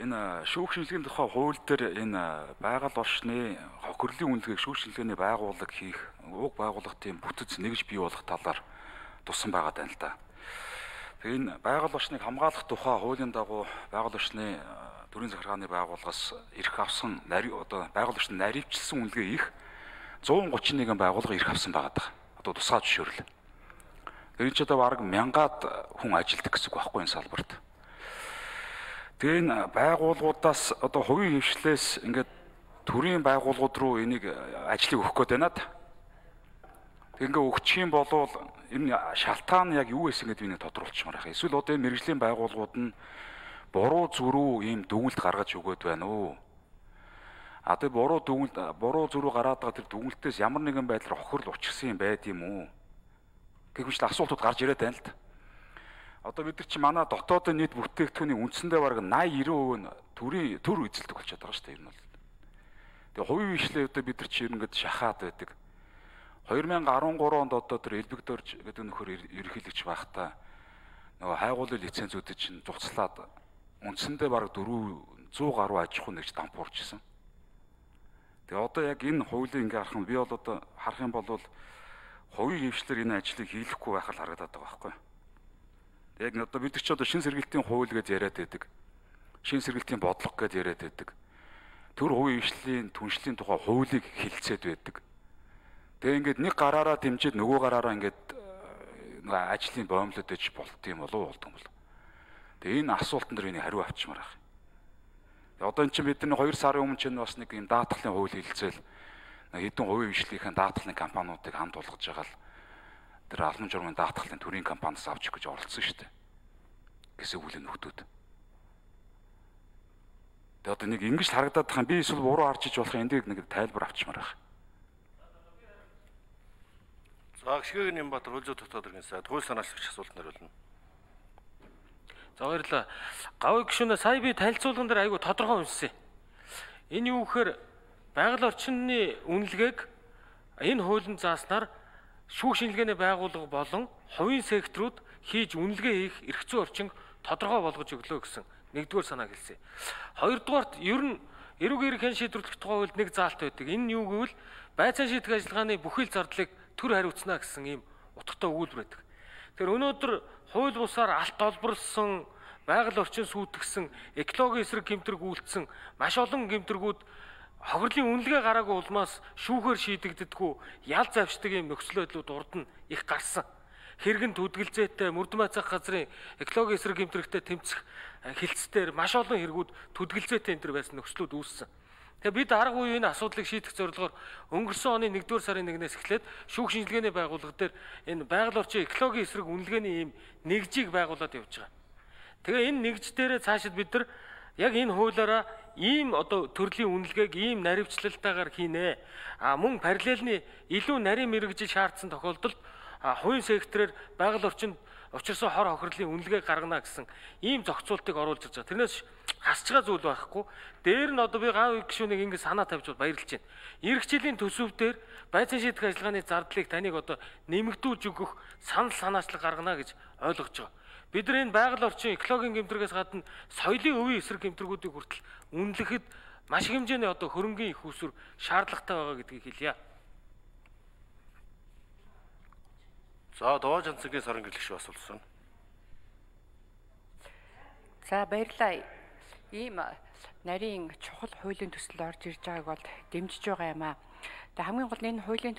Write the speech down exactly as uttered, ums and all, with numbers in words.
Энэ шүүх шинжилгээний тухай хууль дээр энэ байгаль орчны хохирлын үнэлгээг шүүх шинжилгээний байгууллага хийх, уг байгууллагын бүтэц нэгж бий болох талаар туссан байгаа тань л да. Тэгээ энэ байгаль орчныг хамгаалах тухай хуулийн дагуу байгаль орчны төрийн захиргааны байгууллагаас эрх авсан нари одоо байгаль орчны наривчлсан үнэлгээ их зуун гучин нэгэн байгууллага эрх авсан байгаа даа. Одоо тусгай зөвшөөрөл. Энэ ч одоо бараг мянгаад хүн ажилтдаг гэсэн үг байхгүй энэ салбарт. Тэгээ энэ байгууллагуудаас одоо хувийн хвшлээс ингээд төрийн байгууллагууд руу энийг ажлыг өгөх гээд байна. Тэг ингээ өгчих юм бол энэ шалтгаан нь яг юу байсан гэдгийг нэг тодруулчихмаар байна. Эсвэл одоо энэ мэргэжлийн байгууллагууд нь буруу зүрүү ийм дүгнэлт гаргаж өгöd байна уу? А тэр буруу дүгнэлт буруу зүрүү гараад байгаа тэр дүгнэлтээс ямар нэгэн байдлаар хохирол учирсан юм байд юм уу? Гэвч асуултууд гарч ирээд байна л да. Одоо бид нар чи манай дотоодын нийт бүтээгдэхүүний үндсэндээ бараг восемьдесят девять % нь төрийн төр эзэлдэг болчиход байгаа шүү дээ энэ бол. Тэгээ хувийн хвшлээ одоо бид нар чи ингэж шахаад байдаг. two thousand thirteen онд одоо тэр элбэгдөрж гэдэг нөхөр ерөнхийлөгч байхдаа нөгөө хайгуулын лицензүүдийг чинь зугцлаад үндсэндээ бараг four hundred гаруй аж ахуй нэгж дампуурчсан. Тэгээ одоо яг энэ хуулийн ингээ харах нь би бол одоо харах юм бол хувийн хвшлэр энэ ажлыг хийлэхгүй байх л харагдаад байгаа байхгүй. Яг одоо бид ч одоо шин сэргээлтийн хууль гэж яриад байдаг. Шин сэргээлтийн бодлого гэж яриад байдаг. Төр хувийн хвшлийн түншлийн тухай хуулийг хэлэлцээд байдаг. Тэгээ ингээд нэг гараараа дэмжиж нөгөө гараараа ингээд ажлын боомлоод иж болт юм болов болд юм бол. Тэгээ энэ асуултан дээр энийг хариу авчмаар байна. Тэгээ одоо эн чинь бидний two сарын өмнө чинь бас нэг юм даатгалын хууль хэлэлцээл хэдэн хувийн хвшлийнхэн даатгалын компаниудыг хамт болгож байгаа л тэр албан журмын даатгалын төрийн компаниас авчих гэж оролцсон шүү дээ. Гэсэн үлийн нөхдүүд. Тэгээ одоо нэг ингэж харагдаад байгаа юм би эсвэл буруу харж иж болох эндийг нэг тайлбар авчмаар байна. За гişгэн юм бат хөлзөө дотоод иргэн сайд хууль санаачлагч асуулт хариулна. За баярлалаа. Гавь гişүнээ сая би танилцуулган дээр айгүй тодорхой үнсэн. Энэ юу гэхээр байгаль орчны үнэлгээг энэ хуулийн зааснаар шүүх шинжилгээний байгууллага болон хувийн секторууд хийж үнэлгээ хийх эрх зүйн орчин тодорхой болгож өглөө гэсэн нэгдүгээр санаа хэлсэн. Хоёрдугаарт ер нь эрүүг эрхэн шийдвэрлэх тухай хуульд нэг заалт байдаг. Энэ юу гэвэл байцаан шийдэх ажиллагааны бүхэл зардлыг төр хариуцна гэсэн ийм утгатай өгүүлбэр байдаг. Тэгэхээр өнөөдөр хууль бусаар алт олборлсон, байгаль орчин сүйтгэсэн, экологийн эсрэг гэмтрэг үйлдсэн маш олон гэмтрэгүүд хохирлын үнэлгээ гараагүй улмаас шүүхээр шийдэгддэггүй ял завшдаг юм нөхцөл байдлууд урд нь их гарсан. Хэрэгэн төдгөлзөөтэй мөрдөн байцаах газрын экологийн эсрэг гэмтрэгтэй тэмцэх хилцээр маш олон хэрэгүүд төдгөлзөөтэй энэ төр байсан нөхцлүүд үүссэн. Тэгээ бид арга буюу энэ асуудлыг шийдэх зорилгоор өнгөрсөн оны нэгдүгээр сарын нэгнээс эхлээд шүүх шинжилгээний байгууллага дээр энэ байгаль орчин экологийн эсрэг үнэлгээний ийм нэгжийг байгуулад явж байгаа. Тэгээ энэ нэгж дээрээ цаашид бид нар яг энэ хуулиараа ийм одоо төрлийн үнэлгээг ийм наривчлалтаагаар хийнэ. А мөн параллельны илүү нарийн мэрэгжил шаардсан тохиолдолд хувийн секторээр байгаль орчинд учирсан хор хохирлын үнэлгээг гаргана гэсэн ийм зохицуултыг оруулж ирж байгаа. Тэрнээс хасч байгаа зүйл байхгүй. Дээр нь одоо би гав гişүнийг ингэ санаа тавьж баярлж байна. Ирэх жилийн төсөв дээр байцаан шийдэх ажиллагааны зардлыг таныг одоо нэмэгдүүлж өгөх санал санаачлаг гаргана гэж ойлгож байгаа. Бид нар энэ байгаль орчин экологийн гэмтрэгээс гадна соёлын өвийн эсрэг гэмтрэгүүдийг хүртэл үнэлэхэд маш хэмжээний одоо хөрөнгөний их усүр шаардлагатай байгаа гэдгийг хэлье. За Доо Жанцгийн сарын гэрлэгч асуулсан. За баярлалаа. Ийм нарийн чухал хуулийн төсөл орж ирж байгааг бол дэмжиж байгаа юм аа. Тэгээ хамгийн гол нь энэ хуулийн